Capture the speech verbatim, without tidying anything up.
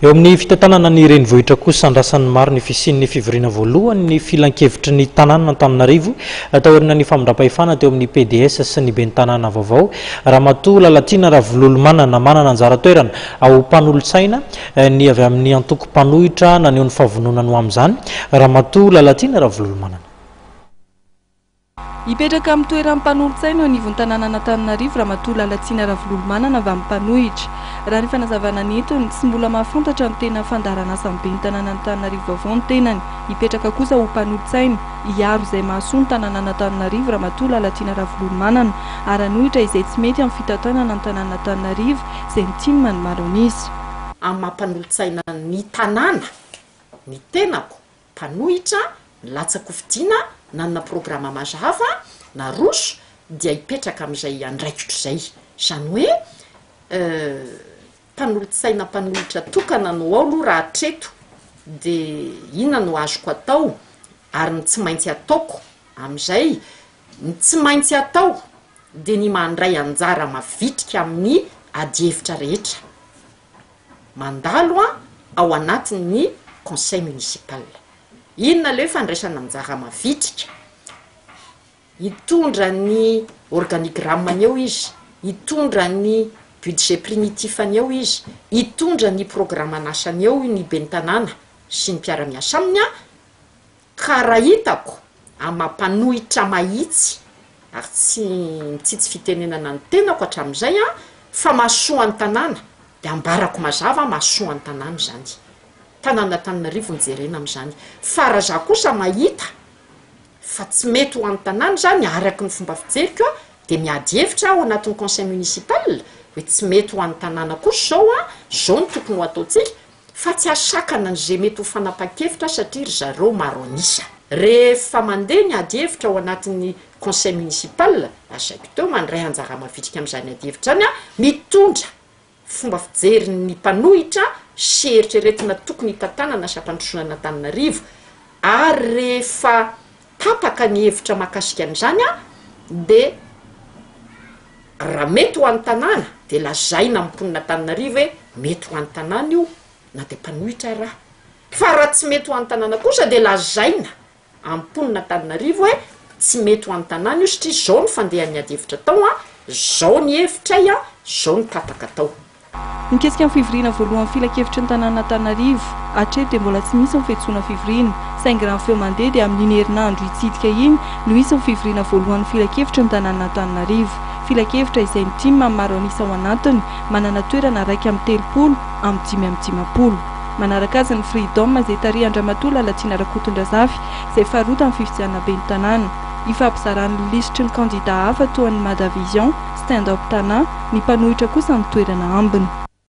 Eo amin'ny fitantanana ny renivohitra kosa, andrasan'ny maro ny fisian'ny fivoriana voalohany ny filankevitry ny tanàna Antananarivo taorian'ny famindram-pahefana teo amin'ny P D S sy ny ben'ny tanàna vaovao, Ramatoa Lalatiana Ravololomanana. Manana anjara toerana ao mpanolotsaina ny avy amin'ny antoko mpanohitra. Naneho ny fahavononany ho amin'izany Ramatoa Lalatiana Ravololomanana. Hipetraka amin'ny toeran'ny mpanolotsaina eo anivon'ny tanànan'Antananarivo Ramatoa Lalatiana Ravololomanana avy amin'ny mpanohitra. Raha ny fanazavana nentiny, tsy mbola mahafantatra ny tena fandaharan'asan'ny ben'ny tanànan'Antananarivo vaovao ny tenany. Hipetraka kosa ho mpanolotsaina, hiaro izay mahasoa ny tanànan'Antananarivo Ramatoa Lalatiana Ravololomanana ary hanohitra izay tsy mety amin'ny fitantanana ny tanànan'Antananarivo izay ny TIM ny maro an'isa. Amin'ny mampanolotsaina ny tanàna ny tenako, mpanohitra nilatsa-kofidina, nanana programa mazava naroso, dia hipetraka amin'izay andraikitro zay, zany hoe mpanolotsaina mpanohitra tokana no ao aloha raha hatreto. De inona no azoko atao ary ny tsy maintsy ataoko am'izay? Ny tsy maintsy atao de ny mandray anjara mavitrika amin'ny adihevitra rehetra mandalo a ao anatin'ny conseil municipal. Inona le hoe fandraisana anjara mavitrika? Hitondra ny organigramme-ny eo izy, hitondra ny budget primitif-any eo izy, hitondra ny programme n'asany eo ny ben'ny tanàna sy ny mpiara-miasa aminy a ka raha hitako amampanohitra mahitsy ary tsy mitsitsy fitenenana ny tenako hatramin'izay a fa mahasoa ny tanàna, de ambarako mazava mahasoa ny tanàna zany, tanàna Tananarivo nijerena am'izany. Fa raha za kosa mahita fa tsy mety ho an'ny tanàna zany araky ny fomba fijeriko a de miady hevitra ao anatin'ny conseil municipal hoe tsy mety ho an'ny tanàna kosa zao a zao no tokony ho ataotsika, fa tsy asakana n'zay mety ho fanapa-kevitra satria ry zareo maro anisa. Rehefa mandeha ny ady hevitra ao anatin'ny conseil municipal, azaiko teo, mandray anjara mavitrika am'izany ady hevitra zany a mitondra fomba fijerin'ny mpanohitra sy eritreretina tokony hitantanana sy ampandrosoana Antananarivo. Ary rehefa tapaka ny hevitra mahakasika an'izany a de raha mety ho an'ny tanàna, de lazaina amin'ny mponina Antananarivo hoe mety ho an'ny tanàna io na de mpanohitra raha, fa raha tsy mety ho an'ny tanàna kosa, de lazaina amin'ny mponina Antananarivo hoe tsy mety ho an'ny tanàna io satria zao ny fandehan'ny ady hevitra tao a zao ny hevitray a zao ny tapaka tao. Mikesika ny fivoriana voalohan'ny filankevitry ny tanàna Antananarivo, hatreto dia mbola tsy misy ny fiantsoana fivoriana, saingy raha ny feo mandeha dia amin'iny herinandro hitsidika iny no hisy ny fivoriana voalohan'ny filankevitry ny tanàna Antananarivo, filankevitra izay ny TIM amin'ny maro anisa ao anatiny, manana toerana raika amin'ny telopolo amin'ny dimy amin'ny dimampolo. Manaraka azy ny Freedom izay tarihan-dRamatoa Lalatiana Rakotondrazafy izay faharoa tamin'ny fifidianana ben'ny tanàna. Ifampizarany lisitry ny kandida hafa toa ny Mada Vision, Stand Up Tana, ny mpanohitra kosa ny toerana ambiny.